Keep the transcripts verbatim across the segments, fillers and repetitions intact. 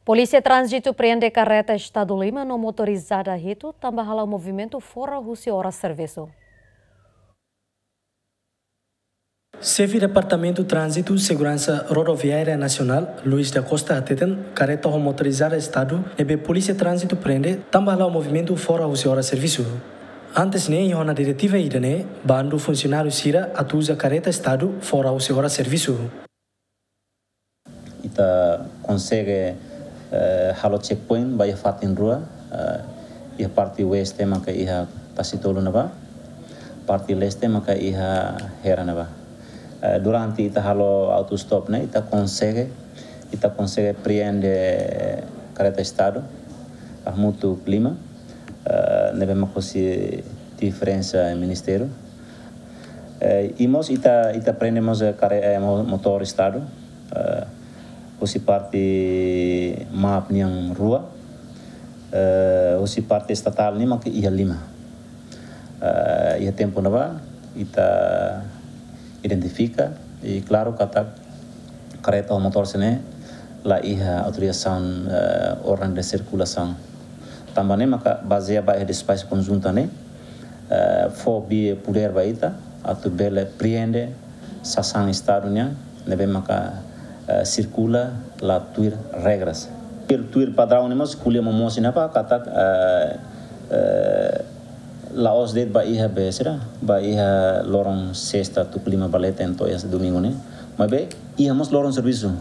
Polísia Tránzitu prende kareta Estadu lima no motorizada hitu, tanba hala'o movimentu fora husi oras servisu. Xefe Departamentu Tránzitu Seguransa Rodoviária Nasionál, Luis da Costa, hateten kareta ho motorizada Estadu ne'ebé Polísia Tránzitu prende tanba hala'o movimentu fora husi oras servisu. Antes ne'e, iha ona diretiva ida-ne'e, bandu funsionáriu sira atu uza kareta Estadu fora husi oras servisu. Ita konsege, eh, halo checkpoint ba iha fatin rua, eh, iha parte oeste maka iha Tasitolu ne'ebá, parte leste maka iha Hera ne'ebá. Eh, durante ita halo autostop ne'e, ita konsege, ita konsege prende kareta Estadu, hamutuk lima, eh, ne'ebé mak husi diferensa ministériu. Eh, i mós ita, ita prende mós, eh, kare-, eh, mo-, motór Estadu, eh, husi parte MAP nian rua, eh, husi parte estatál nian mak iha lima. Eh, iha tempu ne'ebá, ita identifika, i klaru katak kareta ho motór sira-ne'e la iha autorizasaun, eh, orden de sirkulasaun. Tanba ne'e maka bazeia ba iha despaxu konjunta ne'e, eh, fó be podér ba ita atu bele prende sasán Estadu nian ne'ebé maka, eh, sirkula la tuir regras. Tuir, tuir padraun ne'e mós ko'alia momoos iha ne'ebá katak, eh, eh, la'ós de'it ba iha be sira, ba iha loron sesta tuku lima ba leten to'o iha domingu ne'e. Maibé iha mós loron servisu.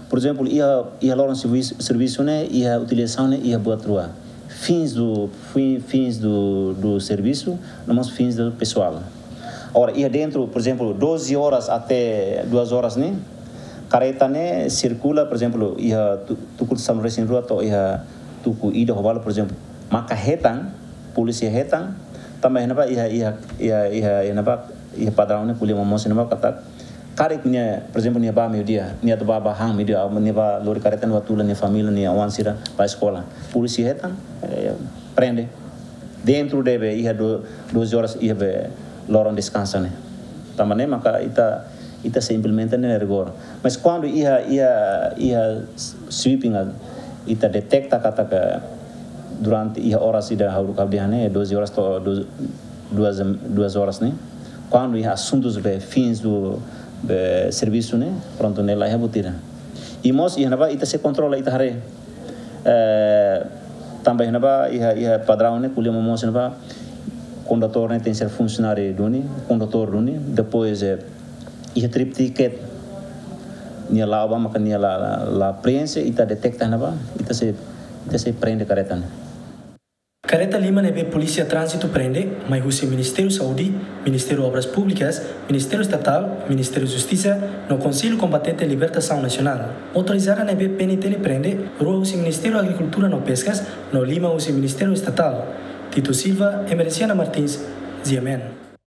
Por ezemplu, iha, iha loron servis-, servisu ne'e, iha utilizasaun ne'e, iha buat rua. Fins do, fi-, fins do, do serviço, no mós fins do pessoal. Agora, iha dentro, por ezemplu, doze horas até duas horas ne'e, kareta ne'e sirkula, por ezemplu, iha tu-, tuku sanulu-resin-rua to'o iha tuku ida ho balu, por ezemplu, maka hetan, polísia hetan, tanba iha ne'ebá, iha, iha, iha, iha, iha ne'ebá, iha padraun ne'e, ko'alia momoos iha ne'ebá katak, karik nia, por ezemplu, nia bá meiudia, nia atu bá, bá han meiudia, nia bá lori kareta, nia bá tula nia família, nia oan sira ba eskola. Polísia hetan, eh, prende. Dentro deve iha do-, doze horas iha be loron deskansa ne'e. Tanba ne'e maka ita, ita sei implementa ne'e rigor. Mas kuandu iha, iha, iha sweeping, ita deteta katak durante iha oras ida ha'u, ha'u dehan ne'e, doze horas to'o du-, duas, duas horas ne'e. Kuandu iha asuntus be fins do, be servisu ne'e, prontu ne'e la iha buat ida. I mós iha ne'ebá ita sei kontrola ita haree. Eh, tanba iha ne'ebá, iha, iha padraun ne'e, ko'alia momoos iha ne'ebá, kondutór ne'e tenke ser funsionáriu duni, kondutór duni, depois, eh, iha trip ticket, nia la'o ba maka nia la, la, la preenxe, ita deteta iha ne'ebá, ita sei, ita sei prende kareta ne'e. Kareta lima ne'ebé Polísia Tránzitu prende, mai husi Ministériu Saúde, Ministériu Obras Públikas, Ministériu Estatál, Ministériu Justisa, no Konsellu Kombatente Libertasaun Nasionál. Motorizada ne'ebé P N T L prende, rua husi Ministériu Agrikultura no Peskas, no lima husi Ministériu Estatál. Tito Silva, Emerenciana Martins, G M N.